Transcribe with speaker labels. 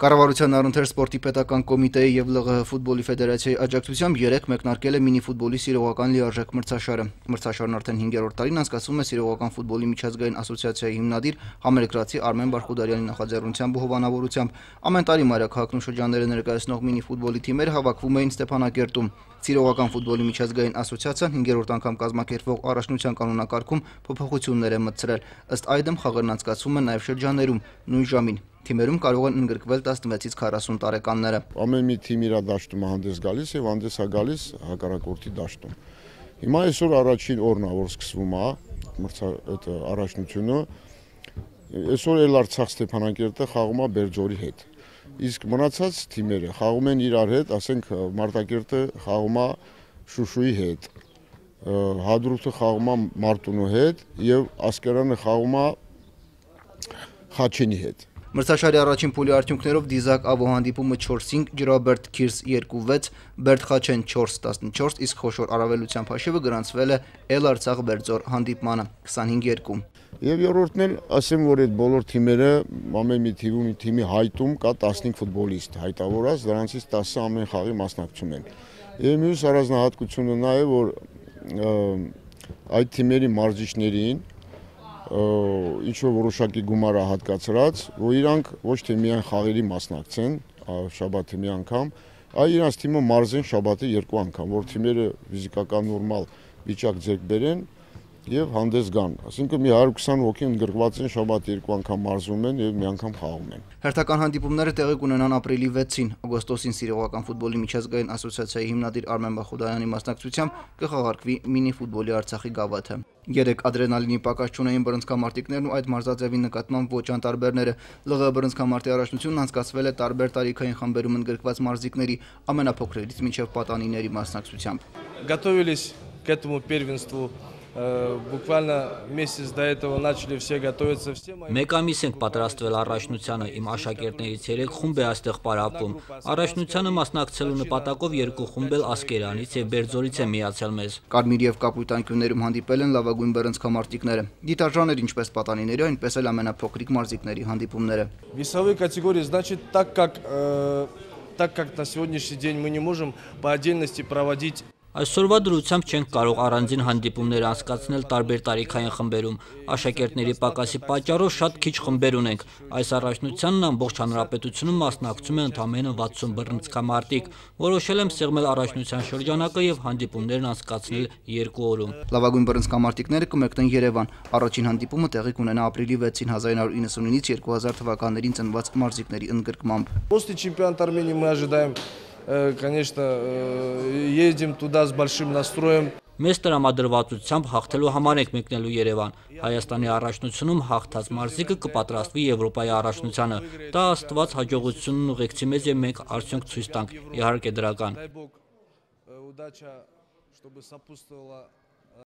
Speaker 1: Կառավարության առընթեր սպորտի պետական կոմիտեի եւ ԼՂՀ ֆուտբոլի ֆեդերացիայի աջակցությամբ 3 մեկնարկել է մինի-ֆուտբոլի սիրողական լիարժեք մրցաշարը։ Մրցաշարն արդեն 5-րդ տարին անցկացվում է Սիրողական ֆուտբոլի միջազգային ասոցիացիայի հիմնադիր համերկրացի Արմեն Բարխուդարյանի նախաձեռնությամբ ու հովանավորությամբ։ Ամեն տարի մայրաքաղաքն ու շրջանները ներկայացնող մինի-ֆուտբոլի թիմերը հավաքվում էին Ստեփանակերտում։ Սիրողական ֆուտբոլի միջազգային ասոցիացիան 5-րդ անգամ կազմակերպվող առաջնության կանոնակարգում փոփոխություններ է մտցրել։ Ըստ այդմ խաղերն անցկացվում են նաև շրջաններում նույն ժամին։ Թիմերում կարող են ընդգրկվել 16-ից 40 տարեկանները։
Speaker 2: Ամեն մի թիմ իր դաշտում հանդես գալիս եւ հանդես է գալիս հակառակորդի դաշտում։ Հիմա այսօր առաջին օրն է, որ սկսվում է առաջնությունը։ Այսօր էլ Արցախ Ստեփանակերտը խաղում է Բերձորի հետ։ Իսկ մնացած թիմերը խաղում են իրար հետ, ասենք Մարտակերտը խաղում է Շուշուի հետ, Հադրութը խաղում է Մարտունու հետ եւ Ասկերանը խաղում է Խաչենի հետ։
Speaker 1: Մրցաշարի առաջին փուլի արդյունքներով Դիզակ Աբո հանդիպումը 4-5, Ջրաբերդ Քիրս 2-6, Բերդ Խաչեն 4-14, իսկ խոշոր առավելությամբ հաշիվը գրանցվել է Էլ Արցախ Բերձոր հանդիպմանը 25-2։
Speaker 2: Եվ երրորդն էլ ասեմ, որ այդ բոլոր թիմերը ամեն մի թիմի հայտում կա 15 ֆուտբոլիստ հայտավորած, դրանցից 10-ը ամեն խաղի մասնակցում են։ Եվ մյուս առանձնահատկությունը նա է, որ այդ թիմերի մարզիչներին ինչ որ որոշակի գումար է հատկացրած, որ իրանք ոչ թե միայն խաղերի մասնակցեն, շաբաթը մի անգամ, այլ իրանց թիմը մարզեն շաբաթը 2 անգամ, որ թիմերը ֆիզիկական նորմալ վիճակ ձեռք բերեն եւ հանդես գան։ Այսինքն մի 120 հոգի ընդգրկված են շաբաթ 2 անգամ մարզում են եւ մի անգամ խաղում են։
Speaker 1: Հերթական հանդիպումները տեղի կունենան ապրիլի 6-ին, օգոստոսին Սիրողական ֆուտբոլի միջազգային ասոցիացիայի հիմնադիր Արմեն Բարխուդարյանի մասնակցությամբ կխաղարկվի մինի-ֆուտբոլի Արցախի գավաթը։ 3 ադրենալինի պակաս չունեին բռնցքամարտիկներն ու այդ մարզաձևի նկատմամբ ոչ անտարբերները։ ԼՂՀ բռնցքամարտի առաջնությունն անցկացվել է տարբեր տարիքային խմբերում ընդգրկված մարզիկների ամենափոքրերից մինչև պատանիների մասնակցությամբ։
Speaker 3: Готовились к этому первенству. Буквально месяц до этого начали все готовиться.
Speaker 4: Մեկ ամիս ենք պատրաստվել առաջնությանը, իմ աշակերտներից 3 խումբ է այստեղ պարապվում։ Առաջնությանը մասնակցելու նպատակով 2 խումբ էլ Ասկերանից եւ Բերձորից է միացել մեզ։
Speaker 1: Կարմիր եւ կապույտ անկյուններում հանդիպել են լավագույն բռնցքամարտիկները։ Դիտարժաներ ինչպես պատանիների, այնպես էլ ամենափոքրիկ մարզիկների հանդիպումները։
Speaker 3: Весовые категории, значит, так как на сегодняшний день мы не можем по отдельности проводить.
Speaker 4: Այսօրվա դրությամբ չենք կարող առանձին հանդիպումներ անցկացնել տարբեր տարիքային խմբերում։ Աշակերտների պակասի պատճառով շատ քիչ խմբեր ունենք։ Այս առաջնությանն ամբողջ հանրապետությունում մասնակցում է ընդամենը 60 բռնցքամարտիկ։ Որոշել եմ սեղմել առաջնության շրջանակը եւ հանդիպումներն անցկացնել 2 օրում։
Speaker 1: Լավագույն բռնցքամարտիկները կմեկնեն Երևան։ Առաջին հանդիպումը տեղի կունենա ապրիլի 6-ին 1999-ից 2000 թվականներին ծնված մարզիկների ընդգրկմամբ։
Speaker 3: После чемпионата Армении мы ожидаем, конечно, едем туда с большим настроем.
Speaker 4: Մեծ տրամադրվածությամբ հաղթելու համար ենք մեկնելու Երևան։ Հայաստանի առաջնությունում հաղթած մարզիկը կպատրաստվի Եվրոպայի առաջնությանը։ Դա Աստված հաջողությունն ուղեկցի մեզ եւ մենք արդյունք ցույց տանք։ Իհարկե դրական։